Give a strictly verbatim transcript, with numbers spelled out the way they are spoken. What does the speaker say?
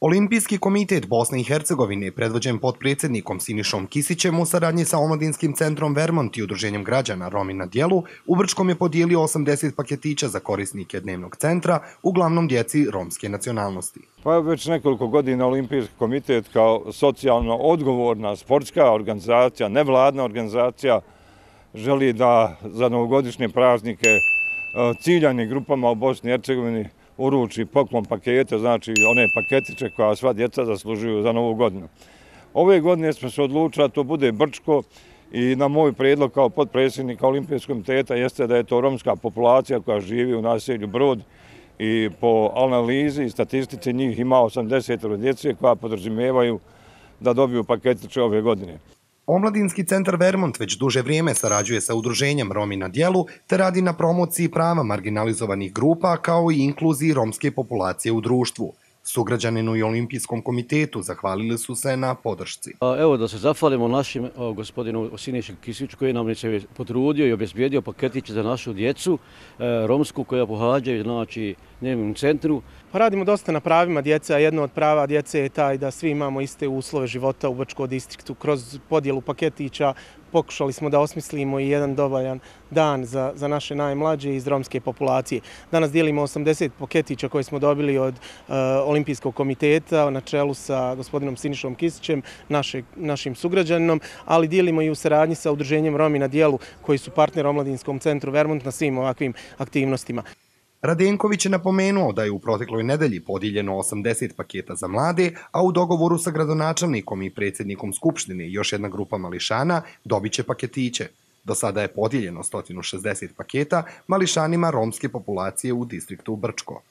Olimpijski komitet Bosne i Hercegovine, predvođen potpredsjednikom Sinišom Kisićem u saradnji sa Omladinskim centrom Vermont i Udruženjem građana Romi na djelu, u Brčkom je podijelio osamdeset paketića za korisnike dnevnog centra, uglavnom djeci romske nacionalnosti. Pa već nekoliko godina Olimpijski komitet kao socijalno odgovorna sportska organizacija, nevladna organizacija, želi da za novogodišnje praznike ciljanim grupama u Bosni i Hercegovini uruči poklon pakete, znači one paketiće koja sva djeca zaslužuju za novu godinu. Ove godine smo se odlučili da to bude Brčko i na moj prijedlog kao potpredsjednika Olimpijskog komiteta jeste da je to romska populacija koja živi u naselju Brod i po analizi i statistici njih ima osamdeset djece koja podrazumijevaju da dobiju paketiće ove godine. Omladinski centar Vermont već duže vrijeme sarađuje sa udruženjem Romi na djelu te radi na promociji prava marginalizovanih grupa kao i inkluziji romske populacije u društvu. Sugrađaninu i Olimpijskom komitetu zahvalili su se na podršci. Evo da se zahvalimo našim gospodinu Siniši Kisiću koji nam se potrudio i obezbijedio paketiće za našu djecu romsku koja pohađaju znači dnevnom centru. Radimo dosta na pravima djece, a jedno od prava djece je taj da svi imamo iste uslove života u Brčkom distriktu. Kroz podjelu paketića pokušali smo da osmislimo i jedan dovoljan dan za, za naše najmlađe iz romske populacije. Danas dijelimo osamdeset paketića koje smo dobili od uh, Olimpijskog komiteta na čelu sa gospodinom Sinišom Kisićem, naše, našim sugrađaninom, ali dijelimo i u saradnji sa udruženjem Romi na djelu koji su partner Omladinskom centru Vermont na svim ovakvim aktivnostima. Radenković je napomenuo da je u protekloj nedelji podijeljeno osamdeset paketa za mlade, a u dogovoru sa gradonačelnikom i predsjednikom Skupštine još jedna grupa mališana dobit će paketiće. Do sada je podijeljeno sto šezdeset paketa mališanima romske populacije u distriktu Brčko.